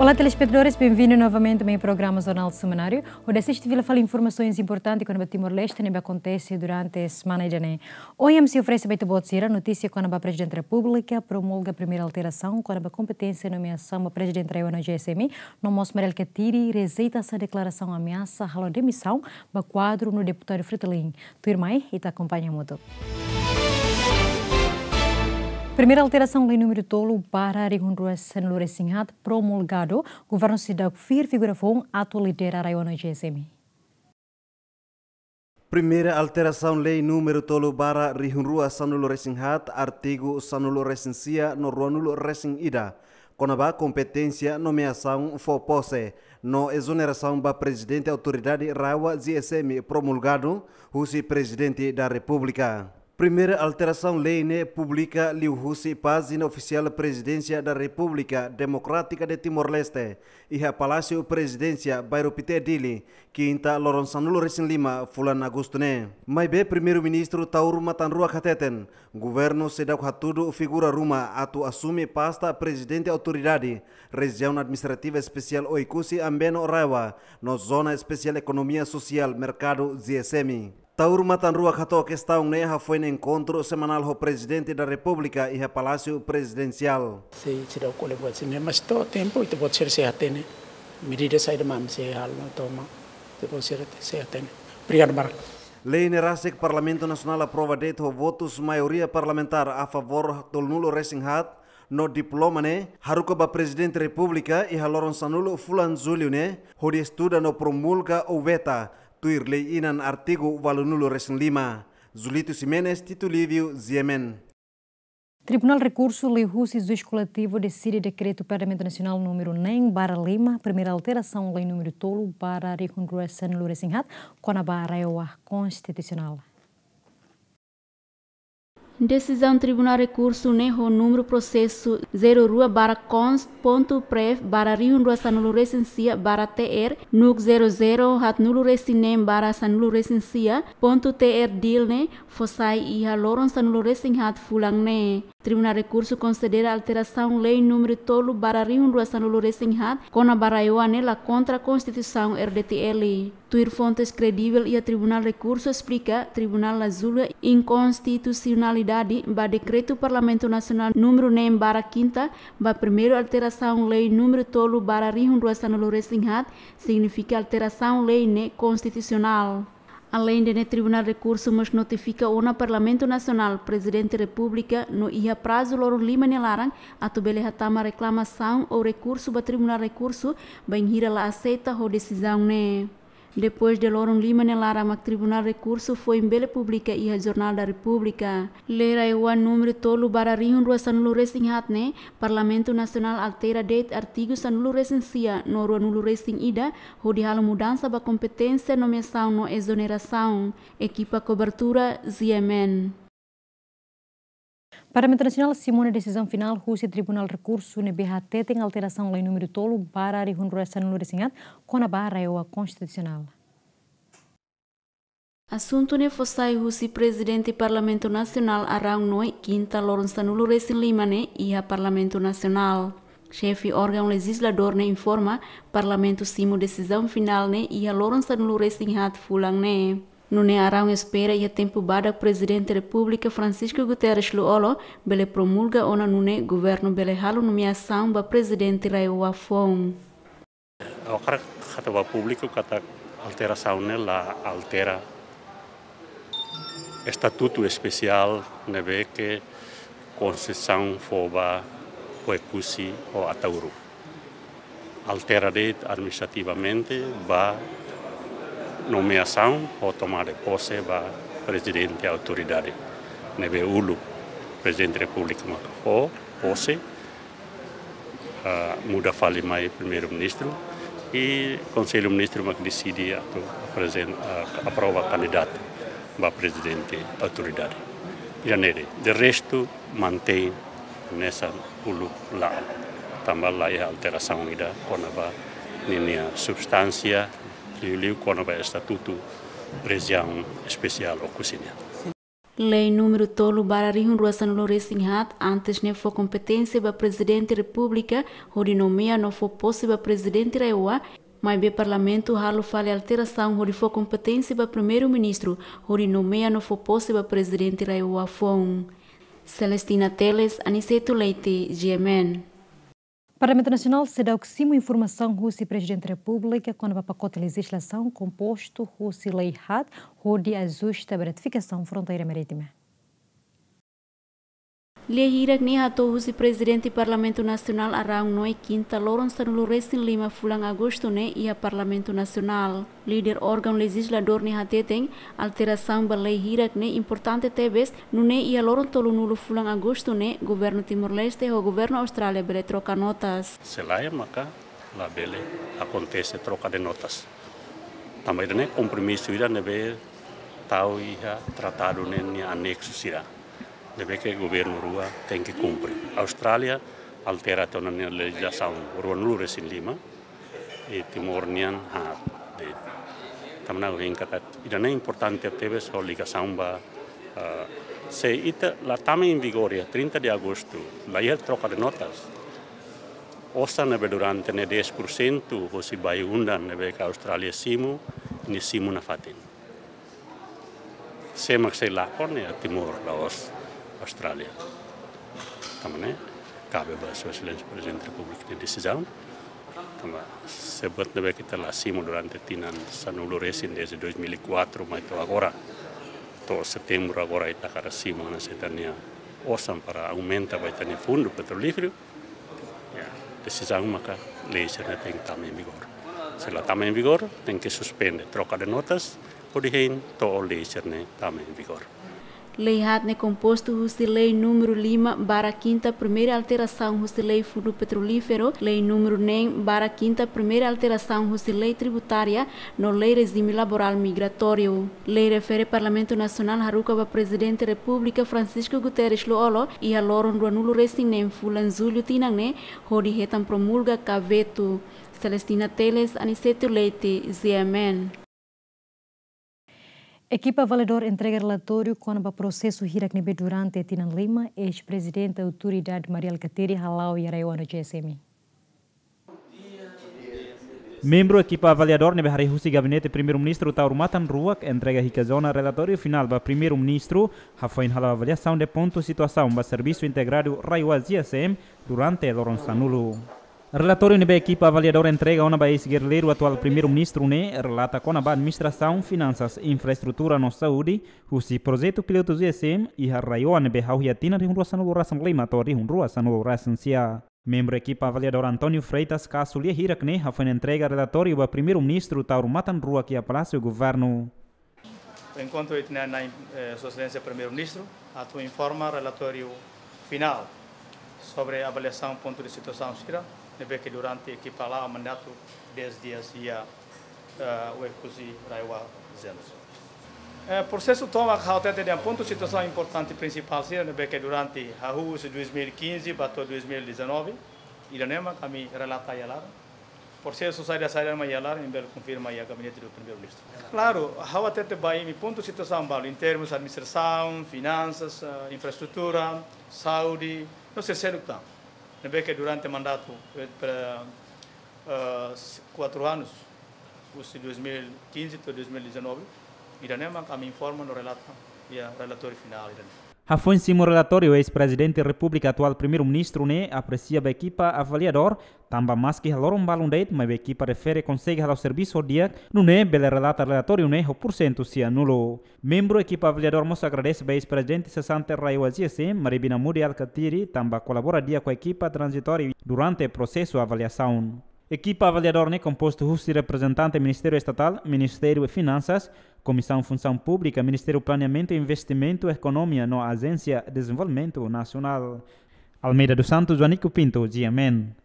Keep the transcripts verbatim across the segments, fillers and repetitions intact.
Olá, telespetadores, bem-vindo novamente ao meu programa Jornal Semanário. Hodi asiste fila fali informasaun importante kona-ba Timor-Leste ne'ebé akontese durante semana ida-ne'e. Ohin ami sei oferese ba ita-boot sira notísia kona-ba Prezidente Repúblika promulga primeira alterasaun kona-ba kompeténsia nomeasaun ba Prezidente RAEOA no GSM, no mós Mari Alkatiri rejeita sá deklarasaun ameasa halo demisaun ba kuadru no deputadu Fretilin. Tuirmai, ita akompaña hamutuk. Primeira alterasaun lei númeru tolu barra rihun rua sanulu resin haat promulgadu, governu seidauk fiar figura foun atu lidera RAEOA no GSM. Primeira alterasaun lei númeru tolu barra rihun rua sanulu resin haat, artigu sanulu resin sia no ruanulu resin ida, kona-ba kompeténsia nomeasaun, fó pose no ezonerasaun ba Prezidente Autoridade RAEOA GSM promulgadu husi Prezidente da Repúblika. Primeira alterasaun lei ne'e publika liuhusi pájina ofisiál Presidência da República Democrática de Timor-Leste, iha Palásiu Prezidénsia, Bairru Pité, Dili, kinta loron sanulu resin lima fulan Agostu ne'e. Maibé Primeiru-Ministru Taur Matan Ruak hateten, governu seidauk hatudu figura ruma atu asume pasta Prezidente Autoridade Rejiaun Administrativa Espesiál Oekusi Ambeno RAEOA no Zona Espesiál Ekonomia Sosiál Merkadu, GSM. Taur Matan Ruak hato'o kestaun ne'e hafoin enkontru semanál ho Prezidente da Repúblika iha Palásiu Prezidensiál. Sei, seidauk kole buat sira-ne'e, mas to'o tempu ita-boot sira sei hatene. Medida saida mak ami sei halo no toma, ita-boot sira sei hatene. Obrigadu barak. Lei ne'e rasik Parlamentu Nasionál aprova de'it ho votus maioria parlamentár a favór tolunulu resin haat, no diploma ne'e haruka ba Prezidente Repúblika iha loron sanulu fulan Jullu ne'e, hodi estuda no promulga ou veta, tuir lei inan artigu ualunulu resin lima. Julito Ximenes, Tito Lívio, GMN. Tribunál Rekursu liuhusi Juís Koletivu deside dekretu Parlamentu Nasionál númeru neen barra lima, primeira alterasaun lei númeru tolu barra rihun rua sanulu resin haat, kona-ba RAEOA konstitusionál. Desizaun Tribunál Rekursu ne'e ho númeru prosesu zero rua barra const ponto prev barra rihun rua sanulu resin sia barra T R, nuk zero zero haatnulu resin neen barra sanulu resin sia ponto T R dil ne'e, fó sai iha loron sanulu resin haat fulan ne'e. Tribunál Rekursu konsidera alterasaun lei númeru tolu barra rihun rua sanulu resin haat, kona-ba RAEOA ne'e la kontra Konstituisaun RDTL. Tuir fontes kredivel iha Tribunál Rekursu esplika, tribunál la julga inkonstitusionalidade ba dekretu Parlamentu Nasionál númeru neen barra kinta ba primeiru alterasaun lei númeru tolu barra rihun rua sanulu resin haat, signifika alterasaun lei ne'e konstitusionál. Aleinde ne'e, Tribunál Rekursu mós notifika ona Parlamentu Nasionál, Prezidente Repúblika, no iha prazu loron lima nia laran atu bele hatama reklamasaun ou rekursu ba Tribunál Rekursu, bainhira la aseita ho desizaun ne'e. Depois de loron lima nia laran mak Tribunál Rekursu foin bele publika iha Jornál da Repúblika. Lei RAEOA númeru tolu barra rihun rua sanulu resin haat ne'e, Parlamentu Nasionál altera de'it artigu sanulu resin sia no ruanulu resin ida, hodi halo mudansa ba kompeténsia nomeasaun no ezonerasaun. Ekipa kobertura, GMN. Parlamentu Nasionál simu ona desizaun finál husi Tribunál Rekursu ne'ebé hateten alterasaun lei númeru tolu barra rihun rua sanulu resin haat, kona-ba RAEOA konstitusionál. Asuntu ne'e fó sai husi Prezidente Parlamentu Nasionál Arão Noy, kinta loron sanulu resin lima ne'e iha Parlamentu Nasionál. Xefe órgaun lejizladór ne'e informa, Parlamentu simu desizaun finál ne'e iha loron sanulu resin haat fulan ne'e. Nune'e Arão espera iha tempu badak Prezidente Repúblika Francisco Guterres Lú-Olo bele promulga ona nune'e governu bele halo nomeasaun ba Prezidente RAEOA foun. Ha'u hakarak hateten ba públiku katak alterasaun ne'e la altera estatutu espesiál ne'ebé ke Konstituisaun fó ba Oekusi ho Ataúru. Altera de'it administrativamente ba nomeasaun ho tomada de pose ba Prezidente Autoridade ne'ebé uluk Prezidente Repúblika mak fó pose, ah, muda fali mai Primeiru-Ministru, i Konsellu Ministru mak deside atu aprezenta, ah, aprova kandidatu ba Prezidente Autoridade. Ida-ne'e de'it, de restu mantein hanesan uluk la'o. Tanba la iha alterasaun ida kona-ba ninia substánsia, liuliu kona-ba estatutu rejiaun espesiál Oekusi nian. Lei númeru tolu barra rihun rua sanulu resin haat antes ne'e fó kompeténsia ba Prezidente Repúblika hodi nomeia no fó pose ba Prezidente RAEOA, maibé Parlamentu halo fali alterasaun hodi fó kompeténsia ba Primeiru-Ministru hodi nomeia no fó pose ba Prezidente RAEOA foun. Celestina Teles, Aniceto Leite, G M N. Parlamentu Nasionál seidauk simu informasaun husi Prezidente Repúblika kona-ba pakote lejizlasaun kompostu husi lei haat hodi ajusta ba identifikasaun fronteira marítima. Lia hirak ne'e hato'o husi Prezidente Parlamentu Nasionál Araun Noe, kinta loron sanulu resin lima fulan Agostu ne'e iha Parlamentu Nasionál. Líder órgaun lejizladór ne'e hateten, alterasaun ba lei hirak ne'e importante tebes, nune'e iha loron tolunulu fulan Agostu ne'e, Governu Timor-Leste ho Governu Austrália bele troka notas. Se lae maka labele akontese troka de notas. Tanba ida-ne'e kompromisu ida ne'ebé tau iha tratadu ne'e nia aneksu sira, ne'ebé ke governu rua tenke kumpre. Austrália altera tiha ona nia lejizlasaun ruanulu resin lima, i Timor nian haat de'it. Tanba ne'e ha'u hein katak ida-ne'e importante tebes ho ligasaun ba, eh, se ita la tama em vigor iha trinta de agosto, la iha troka de notas, osan ne'ebé durante ne'e dez por cento hosi bayu-undan ne'ebé ke Austrália simu, nia simu nafatin. Sé mak sei lakon iha Timor la'ós Austrália. Tanba ne'e kabe ba Sua Exelénsia Prezidente Repúblika nia desizaun. Tanba se buat ne'ebé ke ita la simu durante tinan sanulu resin, desde dois mil e quatro mai to'o agora, to'o setembru agora ita hakarak simu ona ita-nia osan para aumenta ba ita-nia fundu petrolíferu. Ya, desizaun maka lei sira-ne'e tenke tama em vigor. Se la tama em vigor, tenke suspende troka de notas, hodi hein to'o lei sira-ne'e tama em vigor. Lei haat ne'e kompostu husi lei númeru lima barra kinta primeira alterasaun husi lei fundu petrolíferu, lei númeru neen barra kinta primeira alterasaun husi lei tributária, no lei rejime laborál migratóriu. Lei refere Parlamentu Nasionál haruka ba Prezidente Repúblika Francisco Guterres Lú-Olo iha loron ruanulu resin neen fulan jullu tinan ne'e hodi hetan promulga ka vetu. Celestina Teles, Aniceto Leite, G M N. Ekipa avaliadór entrega relatóriu kona-ba prosesu hirak ne'ebé durante tinan lima eis-prezidente Autoridade Mari Alkatiri hala'o iha RAEOA no G S M. Membru ekipa avaliadór ne'ebé harii husi Gabinete Primeiru-Ministru Taur Matan Ruak entrega Hikazona relatóriu finál ba Primeiru-Ministru, hafoin halo avaliasaun de pontu situasaun ba servisu integradu RAEOA G S M durante loron sanulu. Relatóriu ne'ebé ekipa avaliadór entrega ona ba eis-gerrilleiru atuál Primeiru-Ministru ne'e relata kona-ba administrasaun, finansas, infraestrutura no saúde, husi projetu pilotu G S M iha RAEOA ne'ebé hahú iha tinan rihun rua sanulu resin lima to'o rihun rua sanulu resin sia. Membru ekipa avaliadór António Freitas kasu lia hirak ne'e hafoin entrega relatóriu ba Primeiru-Ministru Taur Matan Ruak iha Palásiu Governu. Enkontru ita-nia, eh, Sua Exelénsia Primeiru-Ministru atu informa relatóriu finál sobre avaliasaun pontu de situasaun sira ne'ebé ke durante ekipa la'o mandatu dez dias iha, eh, Oekusi RAEOA Zenos. Eh, prosesu tomak ha'u hatete dehan pontu situasaun importante prinsipál sira ne'ebé ke durante hahú husi dois mil e quinze ba to'o dois mil e dezanove, ida-ne'e mak ami relata iha laran. Prosesu saida-saida mak iha laran, ami bele konfirma iha Gabinete do Primeiru-Ministru. Klaru, ha'u hatete ba imi pontu situasaun balu, em termos administrasaun, finansas, eh, infraestrutura, saúde, no sei seluk tan. Ne'ebé ke durante mandatu, eh, para, eh, kuatru anus, husi dois mil e quinze to'o dois mil e dezanove, ida-ne'e mak ami informa no relata iha relatóriu finál ida-ne'e. Hafoin simu relatóriu, eis-Prezidente Repúblika atuál Primeiru-Ministru ne'e apresia ba ekipa avaliadór, tanba maski iha loron balun de'it, maibé ekipa refere konsege hala'o servisu ho di'ak, nune'e bele relata relatóriu ne'e ho porsentu sianulu. Membru ekipa avaliadór mós agradese ba eis-prezidente sesante RAEOA G S M, Mari Binamudi Alkatiri, tanba kolabora di'ak ho ekipa tranzitóriu durante prosesu avaliasaun. Ekipa avaliadór ne'e kompostu husi reprezentante Ministériu Estatál, Ministériu Finansas, Komisaun Funsaun Públika, Ministériu Planeamentu, Investimentu, Ekonomia no Ajénsia Dezenvolvimentu Nasionál. Almeida dos Santos, Joanico Pinto, G M N.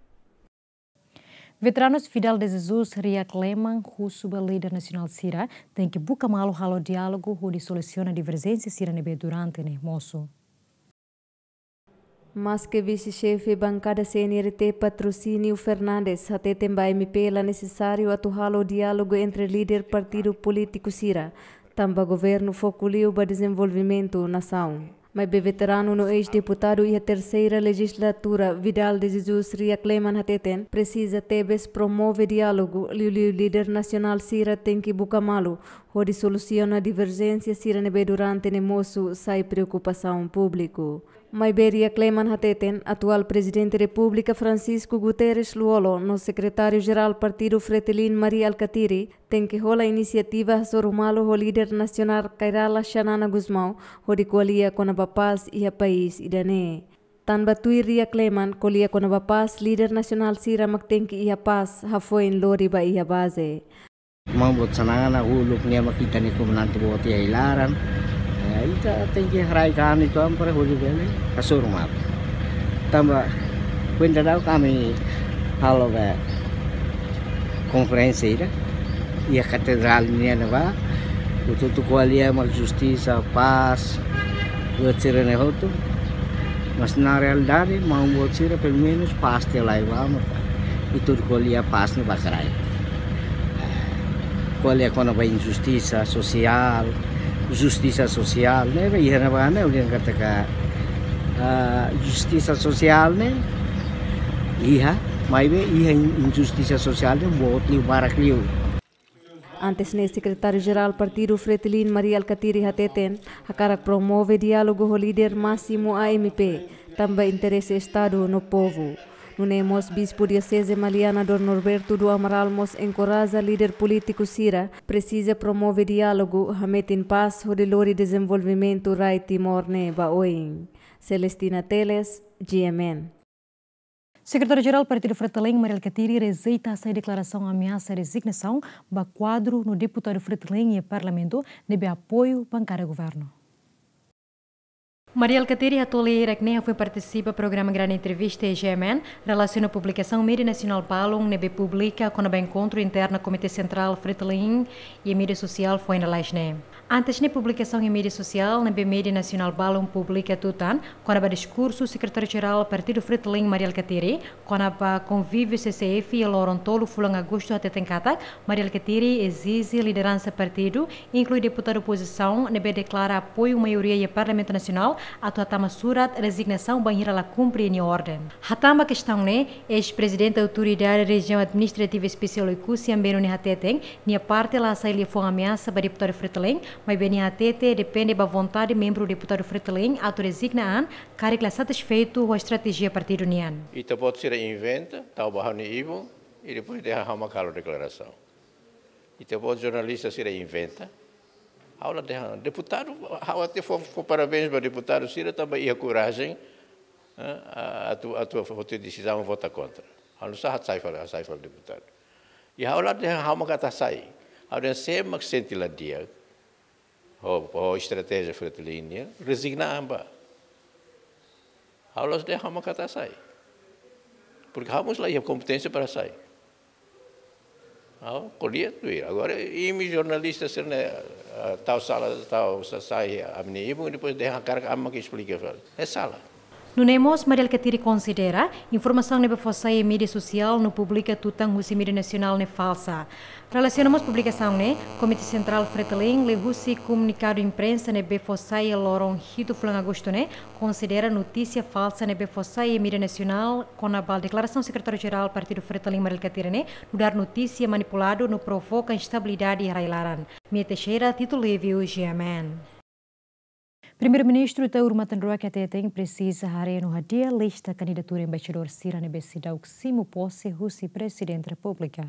Veteranus Fidel de Jesus riak leman husu ba líder nasionál sira tenke buka malu halo diálogu hodi solusiona diverjénsia sira ne'ebé durante ne'e mosu. Maske Vise-Xefe Bankada C N R T Patrocínio Fernandes hateten ba M P la nesesáriu atu halo diálogu entre líder partidu polítiku sira, tanba governu foku liu ba dezenvolvimentu nasaun. Maibé veteranu no eis-deputadu iha terseira lejizlatura Vidal de Jesus Riakleman hateten, presiza tebes promove diálogu, liuliu líder nasionál sira tenke buka malu hodi solusiona diverjénsia sira ne'ebé durante ne'e mosu sai preokupasaun públiku. Maibé Riakleman hateten, atuál Prezidente Repúblika Francisco Guterres Lú-Olo no Sekretáriu-Jerál Partidu Fretilin Mari Alkatiri tenke hola inisiativa hasoru malu ho líder nasionál Kay Rala Xanana Gusmão hodi ko'alia kona-ba pás iha país ida-ne'e. Tanba tuir Riakleman, ko'alia kona-ba pás, líder nasionál sira mak tenke iha pás hafoin lori ba iha baze. Maun boot Xanana uluk nia mak ita-nia komandante boot iha ai-laran. Eh, ita tenke haraik an uitoan para hodi bele hasoru malu. Tanba kuandu daudaun ami halo be konferénsia ida iha katedrál nian ne'ebá, hotu-hotu ko'alia mak justisa, pás, buat sira-ne'e hotu. Mas na realidade, maun boot sira pelumenus pás tiha lai ba, maka ita ko'alia pás ne'e ba kraik. Ko'alia kona-ba injustisa sosiál, justisa sosiál, ne'ebé iha ne'ebá ne'e, ulin katak, ah, justisa sosiál ne'e iha, maibé iha in-, injustisa sosiál ne'e boot liu, barak liu. Antes ne'e, Sekretáriu-Jerál Partidu Fretilin Mari Alkatiri hateten, hakarak promove diálogu ho líder másimu A M P, tanba interese Estadu no povu. Nune'e mós Bispu Dioseze Maliana Dom Norberto do Amaral mós enkoraja líder polítiku sira presiza promove diálogu, hametin pás hodi lori dezenvolvimentu rai Timor ne'e ba oin. Celestina Teles, G M N. Sekretáriu-Jerál Partidu Fretilin Mari Alkatiri rejeita hasai deklarasaun ameasa rezignasaun ba kuadru no deputadu Fretilin iha Parlamentu ne'ebé apoiu bankada governu. Mari Alkatiri hato'o lia hirak-ne'e hafoin partisipa programa Grande Entrevista iha G M N, relasiona publikasaun média nasionál balun ne'ebé publika kona-ba enkontru interna Komité Sentrál Fretilin iha média sosiál foin lalais ne'e. Antes ne'e, publikasaun iha média sosiál ne'ebé média nasionál balun publika tutan kona-ba diskursu Sekretáriu-Jerál Partidu Fretilin Mari Alkatiri kona-ba konvíviu C C F iha loron tolu fulan Agostu hateten katak, Mari Alkatiri ezije lideransa partidu, inklui deputadu opozisaun ne'ebé deklara apoiu maioria iha Parlamentu Nasionál, atu hatama surat rezignasaun bainhira la kumpre nia orden. Hatán ba kestaun ne'e, eis-prezidente Autoridade Rejiaun Administrativa Espesiál Oekusi Ambeno ne'e hateten, nia parte la hasai liafuan ameasa ba deputadu Fretilin, maibé nia hatete depende ba vontade membru deputadu Fretilin atu rezigna an, karik la satisfeitu ho estratéjia partidu nian. Ita-boot sira inventa, tau ba ha'u-nia ibun, i depois dehan ha'u mak halo deklarasaun. Ita-boot jornalista sira inventa, ha'u la dehan, deputadu, ha'u até fó, fó parabéns ba deputadu sira tanba iha korajen, eh, atu, atu foti desizaun vota kontra. Ha'u nusá hasai fali, hasai fali deputadu. I ha'u la dehan ha'u mak atu hasai. Ha'u dehan sé mak sente la di'ak ho, ho estratéjia Fretilin nian, rezigna an ba. Ha'u la'ós dehan ha'u mak atu hasai. Porque ha'u mós la iha kompeténsia para hasai. Ha'u ko'alia tuir. Agora, imi jornalista sira-ne'e, ah, tau sala, tau sa-, sai ami-nia ibun, depois dehan hakarak ami mak esplika fali. É sala. Nune'e mós Mari Alkatiri konsidera informasaun ne'ebé fó sai iha média sosiál no publika tutan husi média nasionál ne'e falsa. Relasiona mós publikasaun ne'e, Komité Sentrál Fretilin, liuhusi komunikadu imprensa ne'ebé fó sai iha loron hitu fulan Agostu ne'e, konsidera notísia falsa ne'ebé fó sai iha média nasionál kona-ba deklarasaun Sekretáriu-Jerál Partidu Fretilin Mari Alkatiri ne'e nu'udar notísia manipuladu no provoka instabilidade iha rai-laran. Mia Teixeira, Tito Livio, G M N. Primeiru-Ministru Taur Matan Ruak hateten presiza haree no hadi'a lista kandidatura embaixadór sira ne'ebé seidauk simu pose husi Prezidente Repúblika.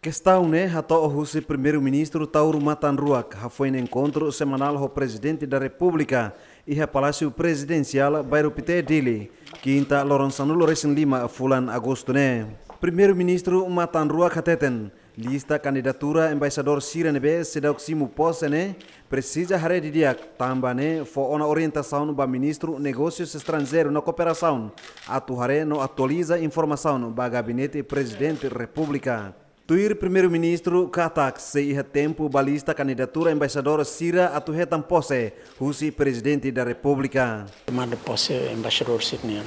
Kestaun ne'e hato'o husi Primeiru-Ministru Taur Matan Ruak hafoin enkontru semanál ho Prezidente da Repúblika iha Palásiu Prezidensiál, Bairru Pité, Dili, Kinta, loron sanulu-resin-lima fulan Agostu ne'e. Primeiru-Ministru Matan Ruak hateten, lista kandidatura embaixadór sira ne'ebé seidauk simu pose ne'e presiza haree didi'ak, tanba ne'e fó ona orientasaun ba Ministru Negósius Estranjeirus no Kooperasaun atu haree no atualiza informasaun ba Gabinete Prezidente Repúblika. Tuir Primeiru-Ministru katak sei iha tempu ba lista kandidatura embaixadór sira atu hetan pose husi Prezidente da Repúblika. Tomada pose embaixadór sira-nian,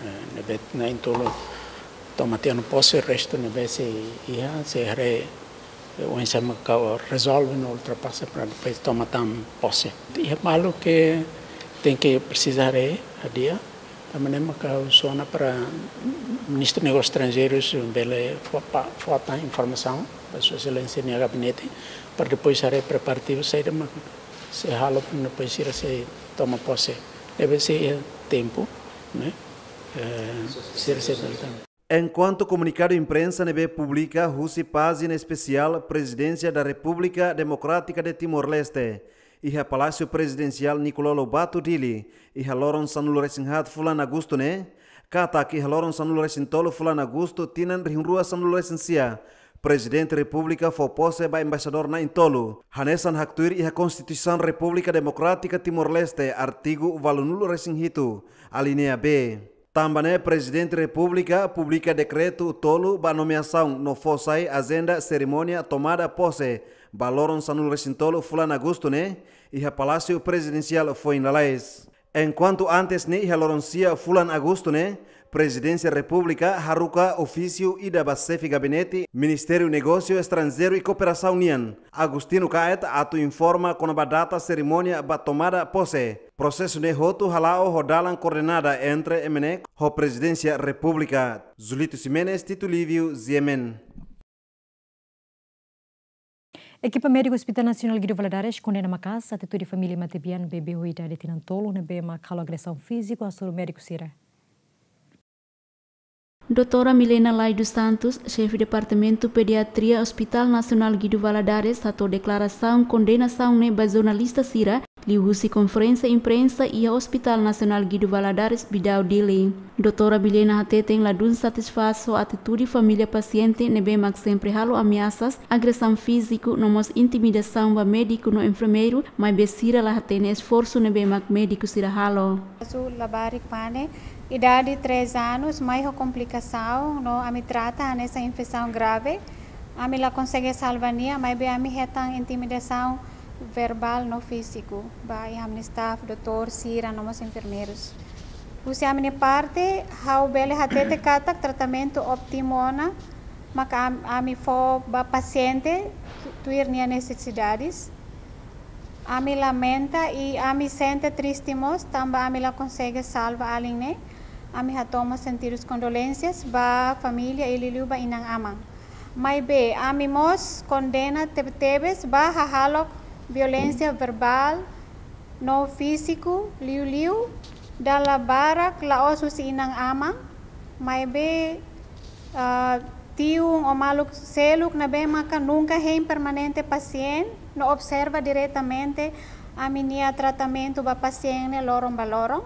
eh, ne'ebé na'in-tolu to'o mate ona pose, restu ne'ebé sei iha, sei haree Oinsá mak rezolve no ultrapasa para depois toma tan pose. Iha balu ke tenke presiza haree, hadi'a, tanba ne'e mak ha'u sona para Ministru Negósius Estranjeirus bele fó, pa, fó tan informasaun ba Sua Exelénsia nia gabinete, para depois haree preparativu saida mak sei halo, para depois sira sei toma pose. Deve ser tempu, ne'e? Eh, sira sei toma. Enkuantu komunikadu imprensa ne'ebé publika husi pájina espesiál Presidência da República Democrática de Timor-Leste, iha Palásiu Prezidensiál Nicolau Lobato, Dili, iha loron sanulu-resin-haat fulan Agostu ne'e, katak iha loron sanulu-resin-tolu fulan Agostu tinan rihun rua sanulu-resin-sia, Prezidente Repúblika fó pose ba embaixadór na'in-tolu, hanesan haktuir iha Konstituisaun Repúblika Demokrátika Timor-Leste, artigu ualunulu-resin-hitu, alínea B. Tanba ne'e Prezidente Repúblika publika dekretu tolu ba nomeasaun no fó sai ajenda serimónia tomada pose ba loron sanulu-resin-tolu fulan Agostu ne'e, iha Palásiu Prezidensiál foin lalais. Enkuantu antes ne'e, iha loron sia fulan Agostu ne'e, Prezidénsia Repúblika haruka ofísiu ida ba Xefe Gabinete Ministériu Negósiu Estranjeiru i Kooperasaun nian, Agostinho Caet, atu informa kona-ba data serimónia ba tomada pose. Prosesu ne'e hotu hala'o ho dalan koordenada entre MNEK ho Prezidénsia Repúblika. Julito Ximenes, Tito Lívio, G M N. Ekipa médiku Hospital Nasionál Guido Valadares kondena maka'as atitude família matebian bebé ho idade tinan tolu ne'ebé mak halo agresaun fíziku hasoru médiku sira. Doutora Milena Lai dos Santos, xefe Departamentu Pediatria Hospital Nasionál Guido Valadares, hato'o deklarasaun kondenasaun ne'e ba jornalista sira, liuhusi konferénsia imprensa iha Hospital Nasionál Guido Valadares, Bidau, Dili. Doutora Milena hateten ladún satisfás ho atitude família pasiente ne'ebé mak sempre halo ameasas, agresaun fíziku no mós intimidasaun ba médiku no enfermeiru, maibé sira la hatene esforsu ne'ebé mak médiku sira halo. Kazu labarik pane, idade três anos, mai ho komplikasaun, no ami trata hanesan infesaun grave. Ami la konsege salva nia, maibé ami hetan intimidasaun verbál no fíziku ba iha ami-nia staff, doutór sira no mós enfermeirus. Husi ami-nia parte, ha'u bele hatete katak tratamentu óptimu ona maka am-, ami fó ba pasiente tu-, tuir nia nesesidades. Ami lamenta i ami sente triste mós, tanba ami la konsege salva alin ne'e. Ami hato'o mós sentidu kondolénsias ba família i liuliu ba inan-aman. Maibé, ami mós kondena tebe-tebes ba hahalok violénsia verbál no fíziku, liuliu dala barak la'ós husi inan-aman, maibé, ah, tiun ou maluk seluk ne'ebé maka nunka hein permanente pasiente no observa diretamente ami-nia tratamentu ba pasiente loron ba loron.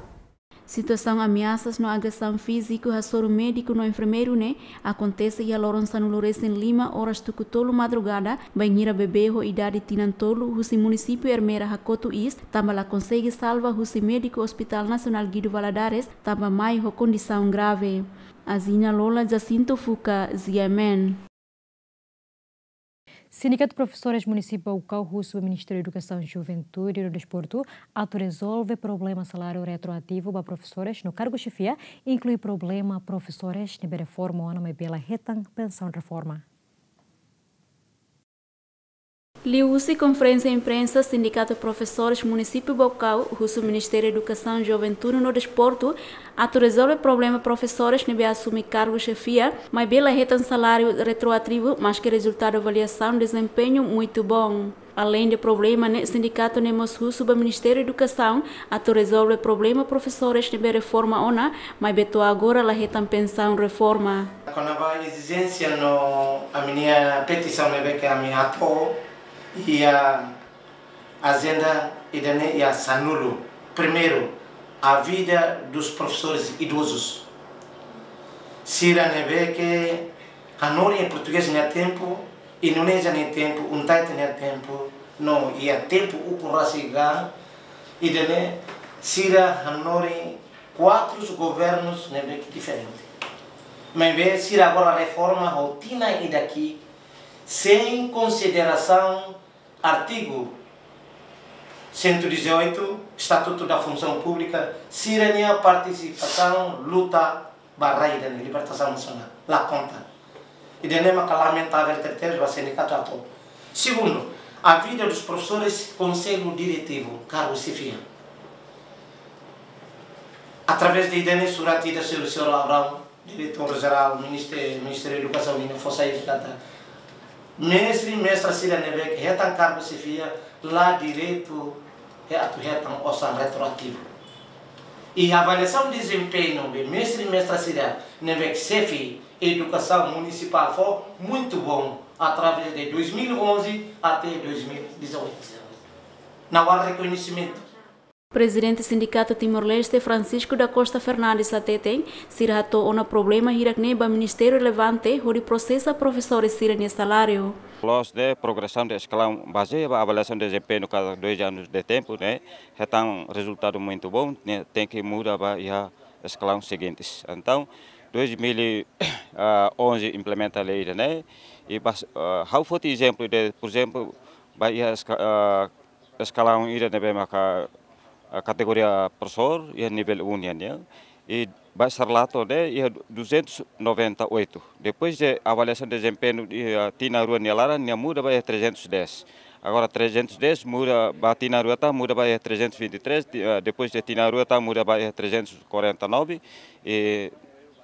Situasaun ameasas no agresaun fíziku hasoru médiku no enfermeiru ne'e akontese iha loron sanulu-resin-lima, oras tuku tolu madrugada, bainhira bebé ho idade tinan tolu husi munisípiu Ermera hakotu iis, tanba la konsege salva husi médiku Hospital Nasionál Guido Valadares, tanba mai ho kondisaun grave. Azina Lola, Jacinto Fuca, G M N. Sindikatu Profesores Munisípiu Baucau husu ba Ministériu Edukasaun, Juventude no Desportu atu rezolve problema saláriu retroativu ba profesores no kargu xefia, inklui problema profesores ne'ebé reforma ona maibé la hetan pensaun reforma. Liuhusi konferénsia imprensa, Sindikatu Profesores Munisípiu Baucau husu Ministériu Edukasaun, Juventude no Desportu atu rezolve problema profesores ne'ebé asume kargu xefia, maibé la hetan saláriu retroativu, maske rezultadu avaliasaun dezempeñu muitu boon. Aleinde problema ne'e, sindikatu ne'e mós husu ba Ministériu Edukasaun atu rezolve problema profesores ne'ebé reforma ona, maibé to'o agora la hetan pensaun reforma. Kona-ba ezijénsia no ami-nia petisaun ne'ebé ke ami hato'o iha ajenda ida-ne'e iha sanulu. Primeiru, a vida dos professores idosos. Sira ne'ebé ke hanorin iha portugés nia tempu, Indonézia nia tempu, UNTAIT nia tempu, no iha tempu ukun rasik an, ida-ne'e sira hanorin kuatru governus ne'ebé ke diferente. Maibé sira agora reforma ho tinan ida-ne'e, sein konsiderasaun artigu cento e dezoito, Estatuto da Função Pública, sira-nia partisipasaun luta ba rai ida-ne'e, libertasaun nasionál, la konta. Ida-ne'e maka lamentavel tebetebes ba sindikatu atu. Segundu, a vida dos professores, Konsellu Diretivu, kargu xefia. Através de ida-ne'e, surat ida, señór, señór Abrão, Diretór Jerál, Ministé-, Ministériu Edukasaun, nian fó sai katak mestre, mestra sira ne'ebé hetan kargu xefia, la direitu atu hetan osan retroativu. I avaliasaun dezempeñu de mestre, mestra sira ne'ebé xefe edukasaun munisipál fó muito bom, através de dois mil e onze até dois mil e dezoito. Não há reconhecimento. Prezidente Sindikatu Timor-Leste, Francisco da Costa Fernandes, hateten, sira hato'o ona problema hirak-ne'e ba ministériu relevante hodi prosesa profesór sira-nia saláriu. Loos de progresaun de eskalaun bazeia ba avaliasaun de dezempeñu kada dois anos de tempu, ne'e, hetan rezultadu muito bom, ne'e, tenke muda ba iha eskalaun seguintes. Entaun, dois mil e onze implementa lei ida-ne'e, i bas-, ah, ha'u foti ezemplu de, por ezemplu, ba iha eska-, ah, eskalaun ida ne'ebé maka, ah, kategoria profesór, iha nivel um nian, ya. I ba Sarlato ne'e, iha duzentos e noventa e oito. Depois de avaliasaun de dezempeñu, iha tinan rua nia laran, nia muda ba iha trezentos e dez. Agora trezentos e dez muda ba tinan rua tan, muda ba iha trezentos e vinte e três, ti-, ah, depois de tinan rua tan, muda ba iha trezentos e quarenta e nove, i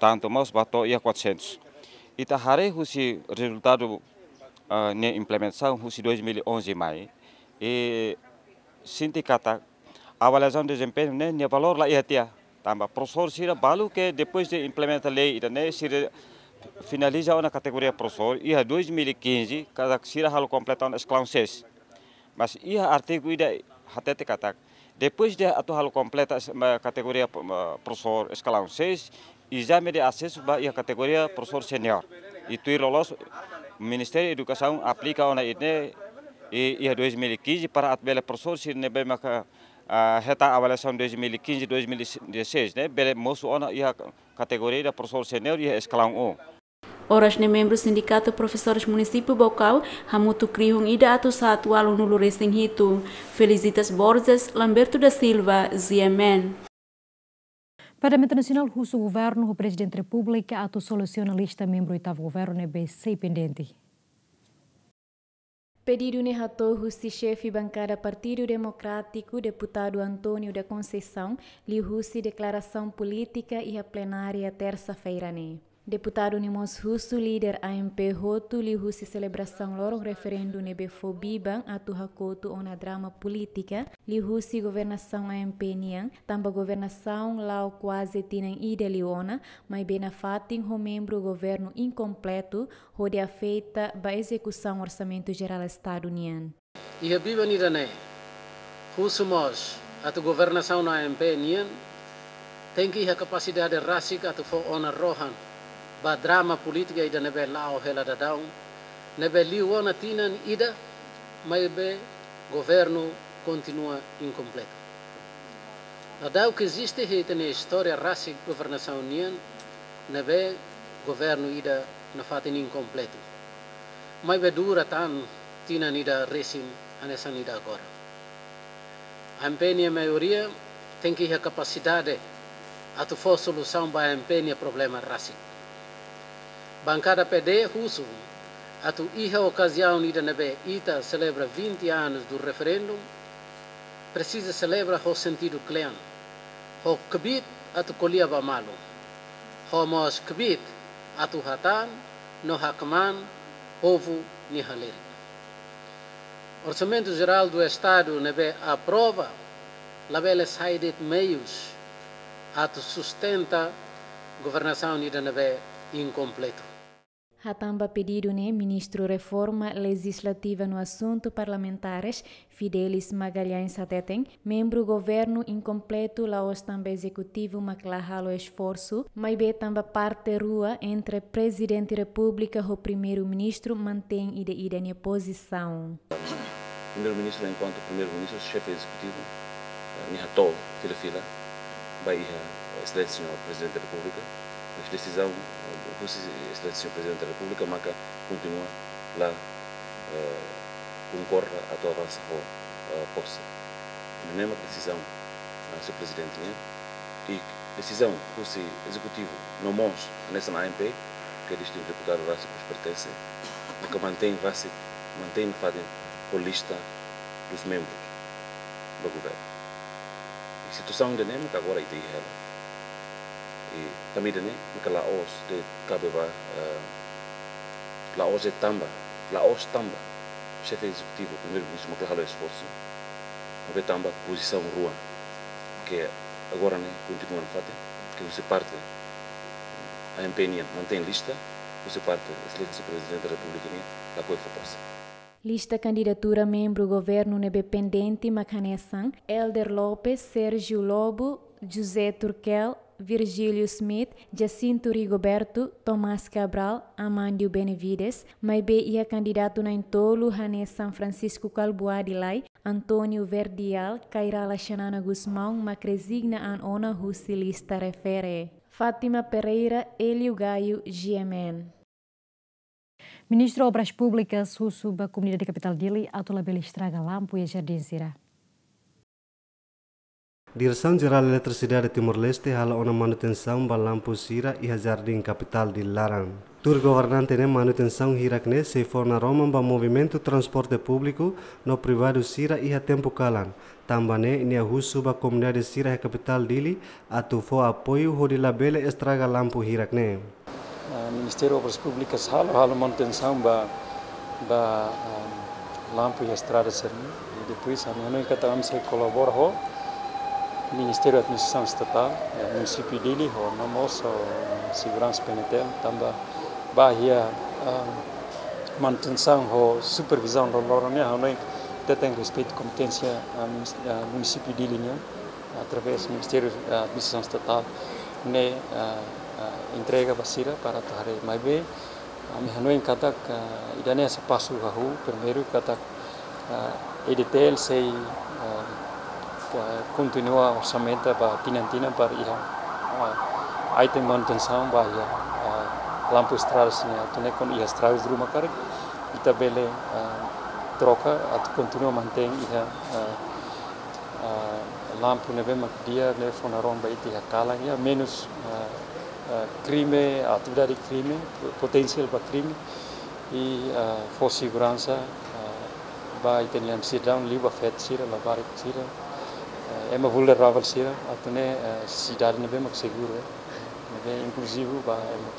tantu mós ba to'o iha quatrocentos. Ita haree husi rezultadu, ah, nia implementasaun husi dois mil e onze mai, i sente katak avaliasaun dezempeñu ne'e nia valór la iha tiha. Tanba profesór sira balu ke depois de implementa lei ida-ne'e sira finaliza ona kategoria profesór iha dois mil e quinze, katak sira halo kompleta ona eskalaun seis. Mas iha artigu ida hatete katak, depois de atu halo kompleta es-, ma-, kategoria, ma-, profesór eskalaun seis, ezame de asesu ba iha kategoria profesór senior. I tuir loloos, Ministériu Edukasaun aplika ona ida-ne'e, i, iha dois mil e quinze para atu bele profesór sira ne'ebé maka, ah, hetan avaliasaun dois mil e quinze, dois mil e dezasseis, ne'e, bele mosu ona iha kategoria ida profesór senior iha eskalaun um. Oras ne'e membru Sindikatu Profesores Munisípiu Baucau hamutuk rihun ida atus haat ualunulu resin hitu. Felicitas Borges, Lamberto da Silva, Z M N. Parlamentu Nasionál husu Governu ho Prezidente Repúblika atu solusiona lista membru oitavu Governu ne'ebé sei pendente. Pedidu ne'e hato'o husi xefe bankada Partidu Demokrátiku, Deputadu António da Conceição, liuhusi deklarasaun polítika iha plenária tersa-feira ne'e. Deputadu ne'e mós husu líder A M P hotu liuhusi selebrasaun loron referendu ne'ebé fó biban atu hakotu ona drama polítika liuhusi governasaun A M P nian, tanba governasaun la'o kuaze tinan ida liu ona, maibé nafatin ho membru governu inkompletu, hodi afeta ba ezekusaun Orsamentu Jerál Estadu nian. Iha biban ida-ne'e, husu mós atu governasaun A M P nian tenke iha kapasidade rasik atu fó ona rohan ba drama polítika ida ne'ebé la'o hela daudaun, ne'ebé liu ona tinan ida, maibé governu kontinua inkompletu. Daudauk eziste iha ita-nia istória rasik governasaun nian, ne'ebé governu ida nafatin inkompletu. Maibé dura tan tinan ida resin hanesan ida agora. A M P nia maioria tenke iha kapasidade atu fó solusaun ba A M P nia problema rasik. Bankada P D husu atu iha okaziaun ida ne'ebé ita selebra vinte anos do referendum, presiza selebra ho sentidu kle'an, ho kbiit atu ko'alia ba malu, ho mós kbiit atu hatán no hakmaan povu nia halerik. Orsamentu Jerál do Estadu ne'ebé aprova labele sai de'it meius atu sustenta governasaun ida ne'ebé inkompletu. Hatán ba pedidu ne'e, Ministru Reforma Lejizlativa no Asuntu Parlamentares, Fidelis Magalhães hateten, membru governu inkompletu la'ós tanba ezekutivu mak la halo esforsu, maibé tanba parte rua entre Prezidente Repúblika ho Primeiru-Ministru mantein ida-idak nia pozisaun. Primeiru-Ministru, enkuantu Primeiru-Ministru, xefe ezekutivu, eh, nia hato'o fila-fila ba iha Exelénsia Señór Prezidente da Repúblika, mas desizaun, eh, husi Exelénsia Señór Prezidente da Repúblika maka kontinua la, eh, konkorda atu avansa ho, eh, pose. Ne'e mak desizaun, eh, Señór Prezidente nian, i desizaun husi ezekutivu no mós hanesan A M P, ke distintu deputadu rasik mós pertense, maka mantein rasik mantein fatin ho lista dos membros ba governu. I situasaun ida-ne'e maka agora ita iha hela. I tanba ida-ne'e maka la'ós de'it kabe ba, eh, la'ós de'it tanba, la'ós tanba xefe ezekutivu, primeiru-ministru maka la halo esforsu, maibé tanba pozisaun rua, ke agora ne'e kontinua nafatin, ke husi parte AMP nian mantein lista, husi parte Exelénsia Prezidente da Repúblika nian lakohi fó pose. Lista kandidatura membru governu ne'ebé pendente mak hanesan Helder Lopes, Sérgio Lobo, José Turkel, Virgílio Schmidt, Jacinto Rigoberto, Tomás Cabral, Amandio Benavides, maibé iha kandidatu na'in-tolu hanesan Francisco Kalbuadi Lay, António Verdial, Kay Rala Xanana Gusmão mak rezigna an ona husi lista refere. Fátima Pereira, Hélio Gaio, G M N. Ministru Obras Públikas husu ba komunidade kapitál Dili atu labele estraga lampu iha jardín sira. Diresaun Jerál Eletrisidade Timor-Leste halo ona manutensaun ba lampu sira iha jardín kapitál Dili laran. Tuir governante ne'e, manutensaun hirak ne'e sei fó naroman ba movimentu transporte públiku no privadu sira iha tempu kalan. Tanba ne'e nia husu ba komunidade sira iha kapitál Dili atu fó apoiu hodi labele estraga lampu hirak ne'e. Ah, Ministériu Obras Públikas halo, halo manutensaun ba, ba, ah, lampu iha estrada sira-ne'e. I depois ami hanoin katak ami sei kolabora ho Ministériu Administrasaun Estatál, eh, Munisípiu Dili, ho no mós ho Seguransa P N T L, tanba ba iha, ah, manutensaun ho supervizaun loroloron nian, hanoin ita tenke respeitu kompeténsia, ah, minis-, ah, Munisípiu Dili nian, através Ministériu, ah, Administrasaun Estatál ne'e, ah, ah, entrega ba sira para atu haree. Maibé ami hanoin katak, ah, ida-ne'e hanesan pasu hahú, primeiru katak, ah, E D T L sei, ah, ka-, kontinua orsamentu ba tinan-tinan para iha, ah, item manutensaun ba iha, ah, lampu estrada sira-ne'e, atu nune'e kuandu iha estragu ruma karik ita bele, ah, troka atu kontinua mantein iha, ah, ah, lampu ne'ebé mak di'ak, ne'e fó naroman ba ita iha kalan, iha menus, ah, ah, krime, atividade krime, potensiál ba krime, i, ah, fó seguransa, ah, ba ita-nia sidadaun, liu ba feto sira, labarik sira, ah, ema vulneravel sira, atu nune'e, ah, sidade ne'ebé mak seguru, eh, ne'ebé inkluzivu ba ema.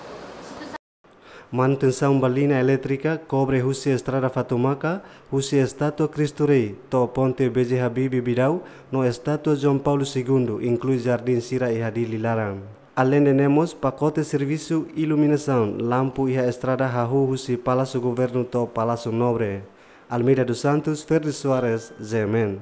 Manutensaun ba liña elétrika kobre husi estrada Fatumaka, husi estátua Kristu Rei to'o ponte B J Habibie Bidau, no estátua João Paulo Segundo, inklui jardín sira iha Dili laran. Aleinde ne'e mós pakote servisu iluminasaun lampu iha estrada hahú husi Palásiu Governu to'o Palásiu Nobre. Almeida dos Santos, Ferdi Soares, G M N.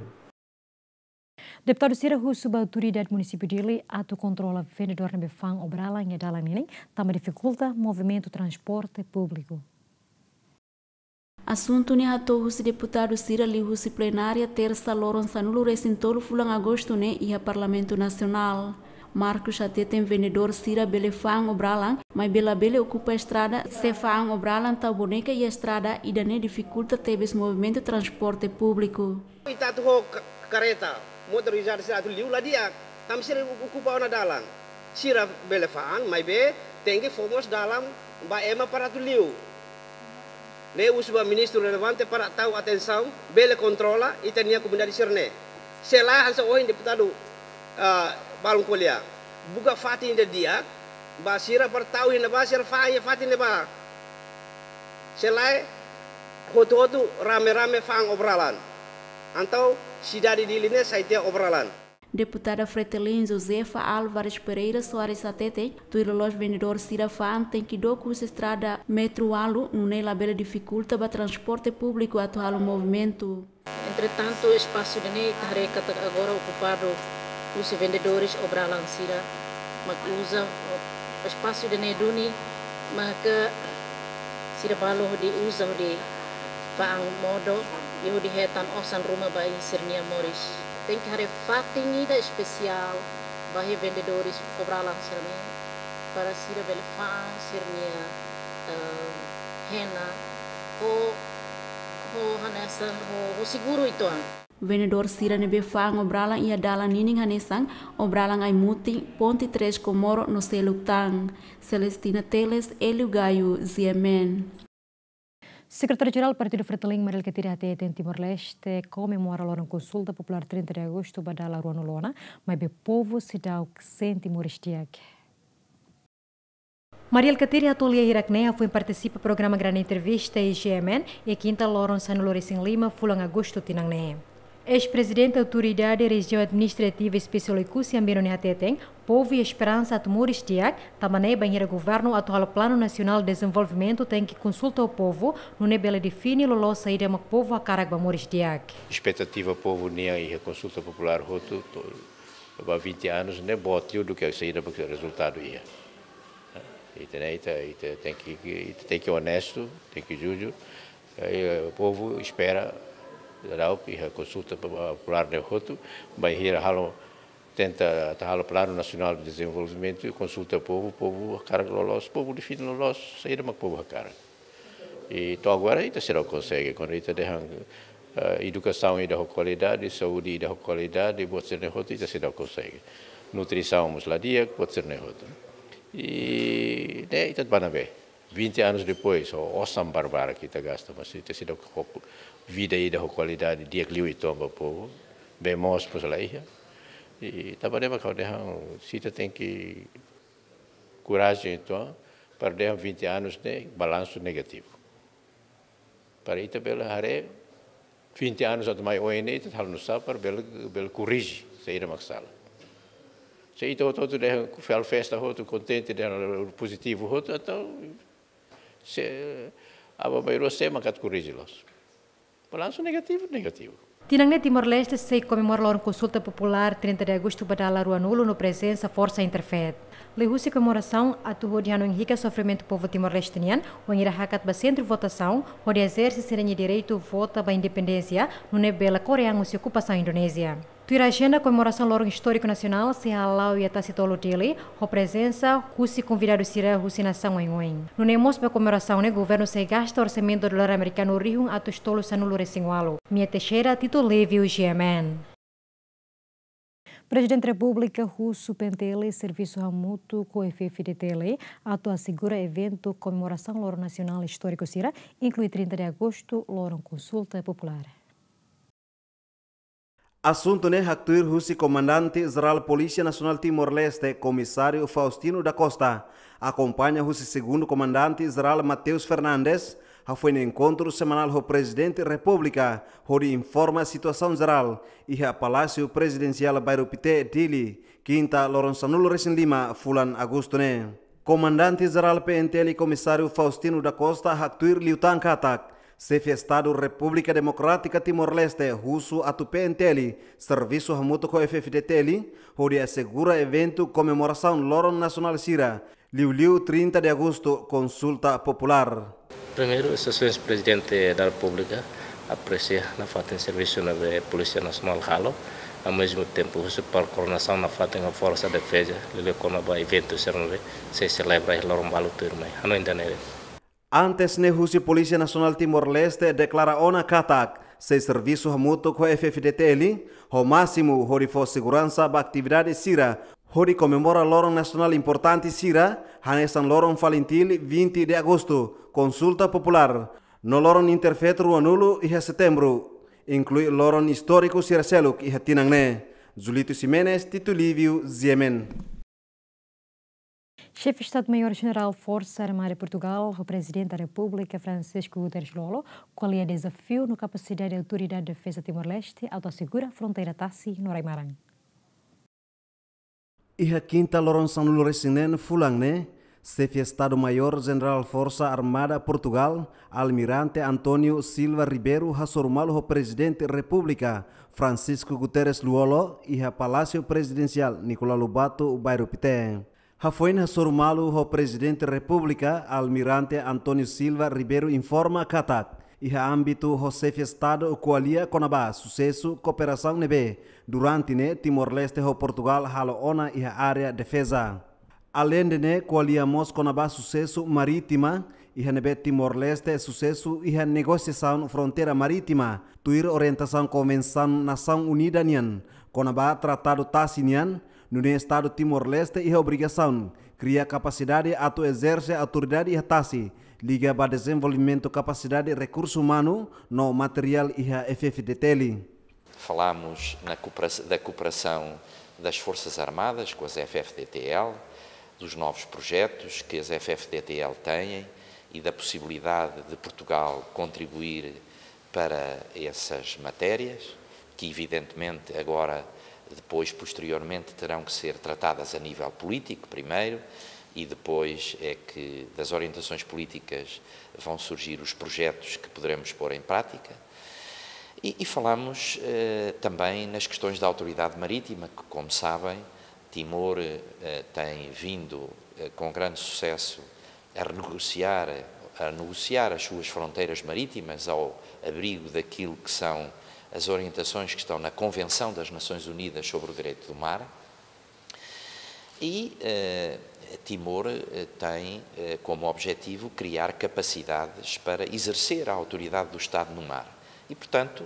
Deputadu sira husu ba autoridade Munisípiu Dili atu kontrola vendedór ne'ebé fa'an obralan iha dalan ninin, tanba difikulta movimentu transporte públiku. Asuntu ne'e hato'o husi deputadu sira liuhusi plenária Tersa loron sanulu-resin-tolu fulan Agostu ne'e iha Parlamentu Nasionál. Marcos hateten vendedór sira bele fa'an obralan, maibé labele okupa estrada, se fa'an obralan tau boneka iha estrada, ida-ne'e difikulta tebes movimentu transporte públiku. Ita atu ho ka-, kareta motorizada sira atu liu la di'ak, tanba sira okupa ona dalan. Sira bele fa'an, maibé tenke fó mós dalan ba ema para atu liu. Ne'e husu ba ministru relevante para tau atensaun, bele kontrola ita-nia komunidade sira-ne'e. Se lae hanesan ohin deputadu, ah, balun ko'alia, buka fatin ida di'ak ba sira para tau iha ne'ebá, sira fa'an iha fatin ne'ebá. Se lae hotu-hotu rame-rame fa'an obralan. Entaun sidade Dili ne'e sai tiha obralan. Deputada Fretilin Josefa Álvares Pereira Soares hateten, tuir loloos vendedór sira fa'an tenke dook husi estrada metru ualu, nune'e labele difikulta ba transporte públiku atu halo movimentu. Entretantu, espasu ida-ne'e ita haree katak agora okupadu husi vendedores obralan sira mak uza espasu ida-ne'e duni, maka sira balu hodi uza hodi fa'an modo, i hodi hetan osan ruma ba iha sira-nia moris. Tenke haree fatin ida espesiál ba iha vendedores obralan sira-ne'e, para sira bele fa'an sira-nia, eh, hena ho, ho hanesan, ho, ho seguru uitoan. Vendedór sira ne'ebé fa'an obralan iha dalan ninin hanesan obralan ai-mutin, ponte Três Comoro no seluk tan. Celestina Teles, Hélio Gaio, G M N. Sekretáriu-Jerál Partidu Fretilin, Mari Alkatiri, hateten Timor-Leste komemora loron konsulta populár trinta de agostu ba dala rua-nulu ona, maibé povu seidauk sente moris di'ak. Mari Alkatiri hato'o lia hirak-ne'e hafoin partisipa programa Grande Entrevista iha G M N, iha kinta loron sanulu-resin-lima fulan agostu tinan ne'e. Eis-prezidente Autoridade Rejiaun Administrativa Espesiál Oekusi Ambeno ne'e hateten, povu iha esperansa atu moris di'ak, tanba ne'e bainhira governu atu halo Planu Nasionál Dezenvolvimentu tenke konsulta ho povu, nune'e bele define loloos saida mak povu hakarak ba moris di'ak. Espetativa povu nian iha konsulta populár hotu, to-, ba vinte anos, ne'e boot liu duké saida mak rezultadu iha. Ita ne'e, ita, ita tenke, ita tenke onestu, tenke jujur. Eh, povu espera, daudaun iha konsulta populár ne'e hotu, bainhira halo, tenta atu halo Planu Nasionál Dezenvolvimentu, konsulta povu, povu hakarak loloos, povu define loloos saida mak povu hakarak. I to'o agora ita seidauk konsege, kuandu ita dehan, eh, edukasaun ida ho kualidade, saúde ida ho kualidade, buat sira-ne'e hotu ita seidauk konsege. Nutrisaun mós la di'ak, buat sira-ne'e hotu. I ne'e ita bá ne'ebé. Vinte anos depois, ho osan barbarak ita gasta, mas ita seidauk ho vida ida ho kualidade di'ak liu ita toma ba povu, bee moos mós la iha. I tanba ne'e mak ha'u dehan, se ita tenke korajen, entaun, para dehan vinte anos ne'e balansu negativu. Para ita bele haree, vinte anos atu mai oin ne'e, ita halo nu'usá para bele, bele korrije saida mak sala. Se ita hotu-hotu dehan, halo festa hotu, kontente, dehan pozitivu hotu, entaun, sé, aban-bainrua sé mak atu korrije loos. Balansu negativu, negativu. Tinan ne'e Timor-Leste sei komemora loron konsulta populár trinta de agostu ba dala rua-nulu no prezensa forsa Interfet. Liuhusi komemorasaun atu hodi hanoin hikas sofrimentu povu Timor-Leste nian, wainhira hakat ba sentru votasaun, hodi ezerse sira-nia direitu vota ba independénsia, nune'e bele kore an husi okupasaun Indonézia. Tuir ajenda, komemorasaun loron istóriku nasionál sei hala'o iha Tasi Tolu, Dili, ho prezensa husi konvidadu sira husi nasaun oioin. Nune'e mós ba komemorasaun ne'e governu sei gasta orsamentu dolar amerikanu rihun atus tolu sanulu-resin-ualu. Mia Teixeira, Tito Livio, G M N. Prezidente Repúblika husu P N T L servisu hamutuk ho F F D T L atu asegura eventu komemorasaun loron nasionál istóriku sira, inklui trinta de agostu, loron konsulta populár. Asuntu ne'e haktuir husi Komandante Jerál Polísia Nasionál Timor-Leste, Komisáriu Faustino da Costa, akompaña husi Segundu Komandante Jerál Mateus Fernandes, hafoin enkontru semanál ho Prezidente Repúblika, hodi informa situasaun jerál, iha Palásiu Prezidensiál Bairru Pité, Dili, kinta loron sanulu-resin-lima fulan Agostu ne'e. Komandante Jerál P N T L Komisáriu Faustino da Costa haktuir liután katak, Xefe Estadu Repúblika Demokrátika Timor-Leste husu atu P N T L servisu hamutuk ho F F D T L, hodi asegura eventu komemorasaun loron nasionál sira, liuliu trinta de agostu, konsulta populár. Primeiru, Sua Exelénsia Prezidente da Repúblika apresia nafatin servisu ne'ebé Polísia Nasionál halo, ao mesmo tempo, husu para koordenasaun nafatin ho Forsa Defeza, liuliu kona-ba eventu sira ne'ebé sei selebra iha loron balu tuirmai. Hanoin ida-ne'e. Antes ne'e, husi Polísia Nasionál Timor-Leste deklara ona katak sei servisu hamutuk ho F F D T L, ho másimu hodi fó seguransa ba atividade sira, hodi komemora loron nasionál importante sira, hanesan loron FALINTIL vinte de agostu, konsulta populár, no loron Interfet rua-nulu iha setembru, inklui loron istóriku sira seluk iha tinan ne'e. Julito Ximenes, Tito Livio, G M N. Xefe Estadu-Maiór Jenerál Forsa Armada Portugal, ho Prezidente da Repúblika Francisco Guterres Lú-Olo, ko'alia dezafiu no kapasidade Autoridade Defeza Timor-Leste atu asegura fronteira tasi no rai-maran. Iha kinta loron sanulu-resin-neen fulan ne'e, Xefe Estadu-Maiór Jenerál Forsa Armada Portugal, Almirante António Silva Ribeiro, hasoru malu ho Prezidente Repúblika Francisco Guterres Lú-Olo, iha Palásiu Prezidensiál Nicolau Lobato, Bairru Pité. Hafoin hasoru malu ho Prezidente Repúblika, Almirante António Silva Ribeiro informa katak, iha ámbitu ho Xefe Estadu ko'alia kona-ba susesu kooperasaun ne'ebé durante ne'e Timor-Leste ho Portugal halo ona iha área defeza. Aleinde ne'e, ko'alia mós kona-ba susesu marítima, iha ne'ebé Timor-Leste susesu iha negosiasaun fronteira marítima, tuir orientasaun Konvensaun Nasaun Unida nian kona-ba tratadu tasi nian, nune'e Estadu Timor-Leste iha obrigasaun kria kapasidade atu ezerse autoridade iha tasi, liga ba dezenvolvimentu kapasidade rekursu umanu no materiál iha F F D T L. Falamos na coopera-, da cooperação das Forças Armadas com as F F D T L, dos novos projetos que as F F D T L têm e da possibilidade de Portugal contribuir para essas matérias, que evidentemente agora, depois, posteriormente, terão que ser tratadas a nível político, primeiro, e depois é que das orientações políticas vão surgir os projetos que poderemos pôr em prática. E, e falamos eh, também nas questões da autoridade marítima, que, como sabem, Timor eh, tem vindo eh, com grande sucesso a renegociar, a negociar as suas fronteiras marítimas ao abrigo daquilo que são as orientações que estão na Convenção das Nações Unidas sobre o Direito do Mar. E eh, Timor eh, tem eh, como objetivo criar capacidades para exercer a autoridade do Estado no mar. E, portanto,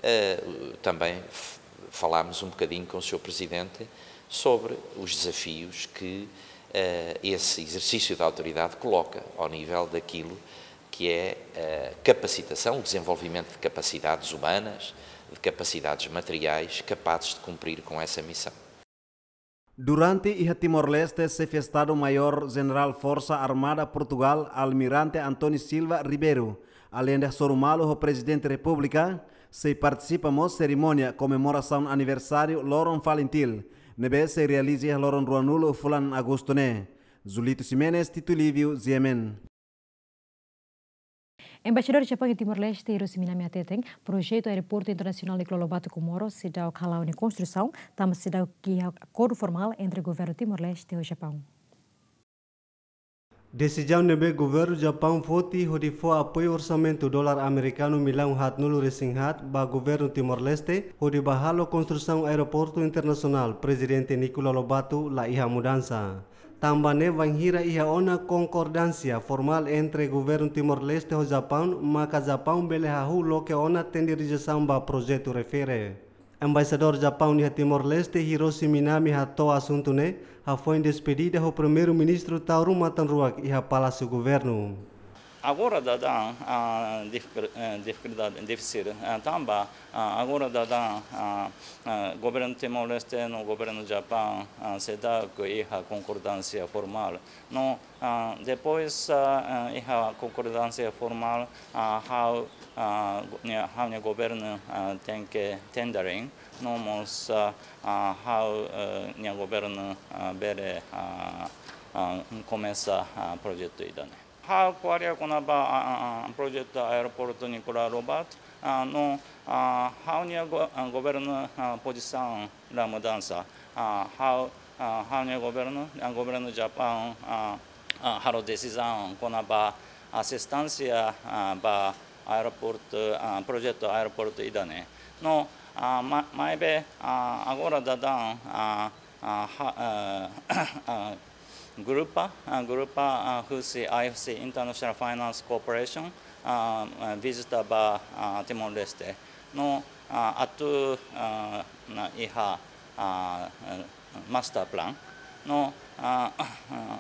eh, também f- falámos um bocadinho com o senhor Presidente sobre os desafios que eh, esse exercício da autoridade coloca ao nível daquilo que é a capacitação, o desenvolvimento de capacidades humanas, de capacidades materiais capazes de cumprir com essa missão. Durante iha Timor-Leste, Xefe Estadu-Maiór Jenerál Forsa Armada Portugal, Almirante António Silva Ribeiro, aleinde hasoru malu ho Prezidente Repúblika, sei partisipa mós serimónia komemorasaun aniversáriu Loron Falintil, ne'ebé sei realiza iha loron ruanulu fulan Agostu ne'e. Julito Ximenes, Tito Livio, G M N. Embaixadór Japaun iha Timor-Leste, Hiroshi Minami hateten, projetu Aeroportu Internasionál Nicolau Lobato Comoro seidauk hala'o nia konstrusaun, tanba seidauk iha akordu formál entre Governu Timor-Leste ho Japaun. Desizaun ne'ebé Governu Japaun foti hodi fó apoiu orsamentu dolar amerikanu millaun haatnulu resin haat ba Governu Timor-Leste hodi bá halo konstrusaun aeroportu internasionál Prezidente Nicolau Lobato la iha mudansa. Tanba ne'e bainhira iha ona konkordánsia formál entre Governu Timor-Leste ho Japaun, maka Japaun bele hahú loke ona tendereza ba projetu refere. Embaixadór Japaun iha Timor-Leste, Hiroshi Minami, hato'o asuntu ne'e hafoin despedida ho Primeiru-Ministru Taur Matan Ruak iha Palásiu Governu. Agora daudaun, ah, difísil, eh, difísil, difísil, ah, tanba, ah, agora daudaun, ah, ah, Governu Timor-Leste no Governu Japaun, ah, seidauk iha konkordánsia formál. No, ah, depois, ah, ah, iha konkordánsia formál, ah, ha'u, ah, go-, nia, ha'u-nia governu, ah, tenke tendering, no mós, ah, ah, ha'u, eh, nia governu, ah, bele, ah, ah, komesa, ah, projetu ida-ne'e. Ha'u ko'alia kona-ba, ah, ah, ah, projetu aeroportu Nicolau Lobato, ah, no, ah, ha'u-nia go-, ah, governu, ah, pozisaun la mudansa. Ah, ha'u, ah, ha'u-nia governu, ah, Governu Japaun, ah, ah, halo desizaun kona-ba asisténsia, ah, ba aeroportu, ah, projetu aeroportu ida-ne'e. No, ah, ma-, maibé, ah, agora daudaun, ah, ah, ha-, ah, ah, grupa, ah, grupa, ah, husi I F C, International Finance Corporation, ah, ah, vizita ba, ah, Timor-Leste. No, ah, atu, ah, na iha, ah, eh, master plan. No, ah, ah,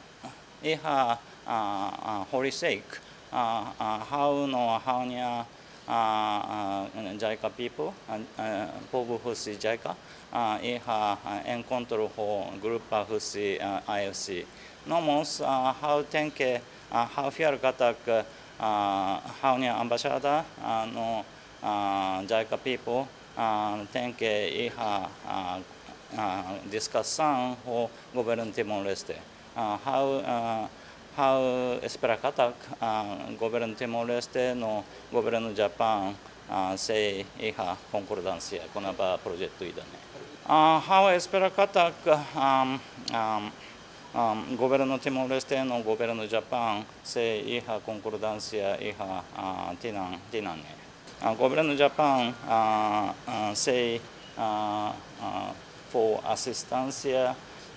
iha, ah, ah, horisehik, ah, ah, ha'u no ha'u-nia, ah, ah, JICA people, ah, ah, povu husi JICA, ah, iha, ah, enkontru ho grupa husi, ah, I F C. No mós, ah, ha'u tenke, ah, ha'u fiar katak, ah, ha'u-nia embaixada, ah, no, ah, JICA people, ah, tenke iha, ah, ah, diskusaun ho Governu Timor-Leste. Ah, ha'u, ah, ha'u espera katak, ah, Governu Timor-Leste no Governu Japaun, ah, sei iha konkordánsia kona-ba projetu ida-ne'e. Ah, ha'u espera katak, ah, ah, ah, Governu Timor-Leste no Governu Japaun sei iha konkordánsia iha, ah, tinan, tinan ne'e. Ah, Governu Japaun, ah, ah, sei, ah, ah, fó asisténsia,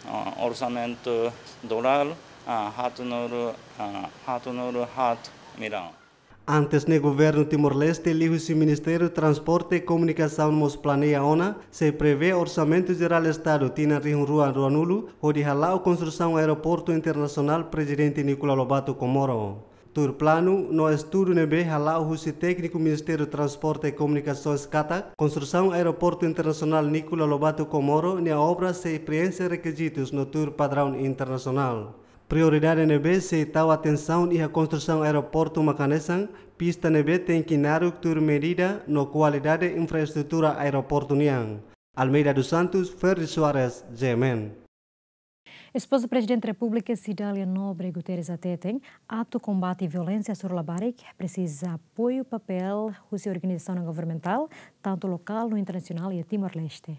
ah, orsamentu dolar, ah, haatnulu, ah, haatnulu haat millaun. Antes ne'e Governu Timor-Leste liuhusi Ministériu Transporte, Komunikasaun mós planeia ona, sei prevee Orsamentu Jerál Estadu tinan rihun rua ruanulu, hodi hala'o konstrusaun Aeroportu Internasionál Prezidente Nicolau Lobato Comoro. Tuir planu no estudu ne'ebé hala'o husi tékniku Ministériu Transporte e Komunikasoens katak, konstrusaun Aeroportu Internasionál Nicolau Lobato Comoro nia obra sei preenxe rekizitus no tuir padraun internasionál. Prioridade ne'ebé sei tau atensaun iha konstrusaun aeroportu mak hanesan pista ne'ebé tenke naruk tuir medida no kualidade infraestrutura aeroportu nian. Almeida dos Santos, Ferdi Soares, G M N. Espoza Prezidente Repúblika Cidália Nobre Guterres hateten, atu kombate violénsia hasoru labarik, presiza apoiu papél husi organizasaun não governamentál, tantu lokál no internasionál iha Timor-Leste.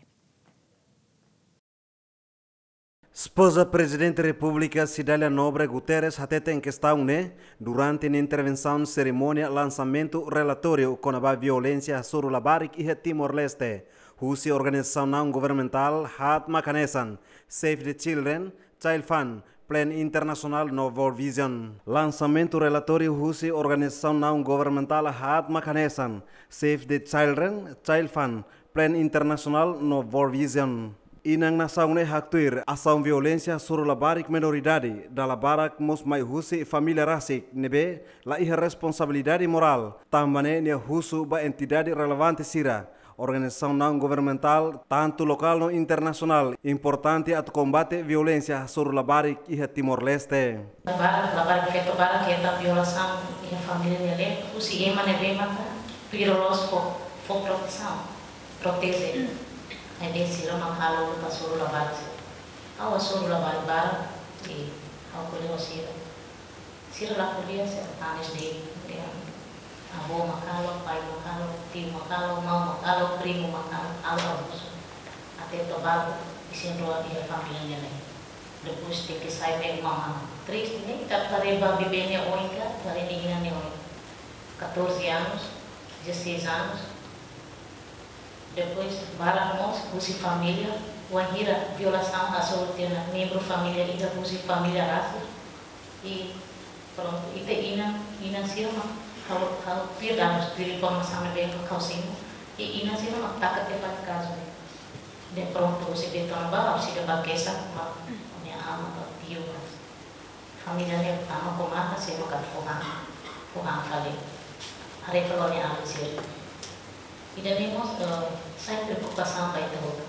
Espoza Prezidente Repúblika Cidália Nobre Guterres hateten kestaun ne'e durante nia intervensaun serimónia lansamentu relatóriu kona-ba violénsia hasoru labarik iha Timor-Leste, husi organizasaun não governamentál haat mak hanesan Save the Children, Child Fund, Plan International no World Vision. Lansamentu relatóriu husi organizasaun não governamentál haat mak hanesan Save the Children, Child Fund, Plan International no World Vision. Inan nasaun ne'e haktuir asaun violénsia hasoru labarik menoridade dala barak mós mai husi família rasik ne'ebé la iha responsabilidade morál. Tanba ne'e nia husu ba entidade relevante sira, organizasaun não governamentál, tantu lokál no internasionál, importante atu kombate violénsia hasoru labarik iha Timor-Leste. Labarik, labarik feto barak hetan violasaun iha família nia leet, husi ema ne'ebé maka tuir loloos fó, fó protesaun, proteje. Ne'ebé sira mak halo luta hasoru labarik sira. Ha'u hasoru labarik barak, i ha'u ko'alia ho sira. Sira la ko'alia sira tanis de'it, dehan avó mak halo, pai mak halo, tiu mak halo, maun mak halo, primu mak halo, halo abuzu. Até to'o balu, isin-rua iha família nia leet. Depois tenke sai be uma mama. Triste, ne'e? Ita haree ba bebé nia oin ka, haree nia inan nia oin. Catorze anos, dezasseis anos. Depois, barak mós, husi família, wainhira violasaun hasoru tiha ona membru família ida husi família rasik. I prontu, ita inan, inan sira mak ha'u, ha'u tuir dadus, tuir informasaun ne'ebé mak ha'u simu. I inan sira mak taka tiha fali kazu ne'e. De prontu, husi de'it ona ba, husi de'it ba kesak, ba, nia ama, ba tiu, ba. Família ne'e tama ho matan, sira mak atu fó han, fó han fali. Haree fali nia alin sira. Ida-ne'e mós, eh, sai preokupasaun ba ita hotu.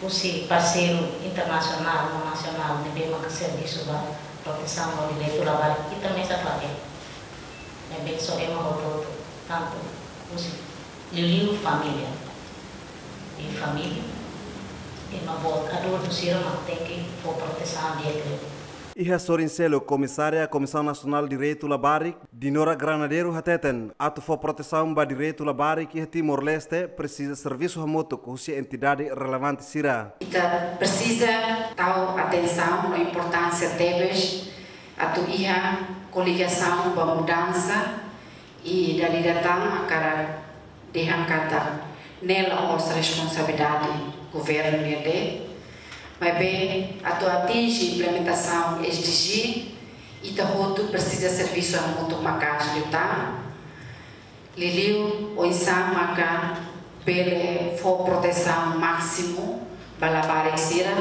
Husi parseiru internasionál no nasionál ne'ebé maka servisu ba protesaun no direitu labarik, ita mesak labele. Ne'ebé só ema hotu-hotu, tantu husi liuliu família. I família, ema boot, adultu sira mak tenke fó protesaun di'ak liu. Iha sorin seluk, Komisária Komisaun Nasionál Direitu Labarik, Dinora Granadeiro hateten, atu fó protesaun ba direitu labarik iha Timor-Leste, presiza servisu hamutuk husi entidade relevante sira. Ita presiza tau atensaun no importánsia tebes atu iha koligasaun ba mudansa i dala ida tan hakarak dehan katak ne'e la'ós responsabilidade governu nian de'it, maibé atu atinje implementasaun S D G, ita hotu presiza servisu hamutuk maka'as liután. Liuliu oinsá maka bele fó protesaun másimu ba labarik sira,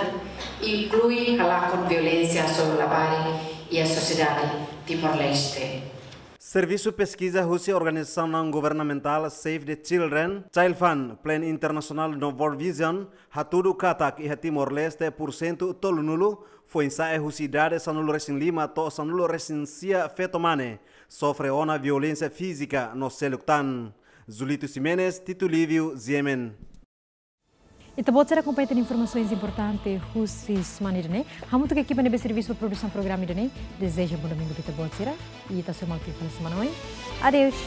inklui halakon violénsia hasoru labarik iha sosiedade Timor-Leste. Servisu peskiza husi organizasaun não governamentál Save the Children, Child Fund, Plan International no World Vision hatudu katak iha Timor-Leste pursentu tolunulu foin-sa'e husi idade sanulu-resin-lima to'o sanulu-resin-sia feto mane sofre ona violénsia fízika no seluk tan. Julito Ximenes, Tito Lívio, G M N. Ita-boot sira akompaña tan informasaun importante husi semana ida-ne'e. Hamutuk ho ekipa ne'ebé servisu ba produsaun programa ida-ne'e, dezeja bom domingu ba ita-boot sira. I ita sei hasoru malu fali semana oin. Adeus.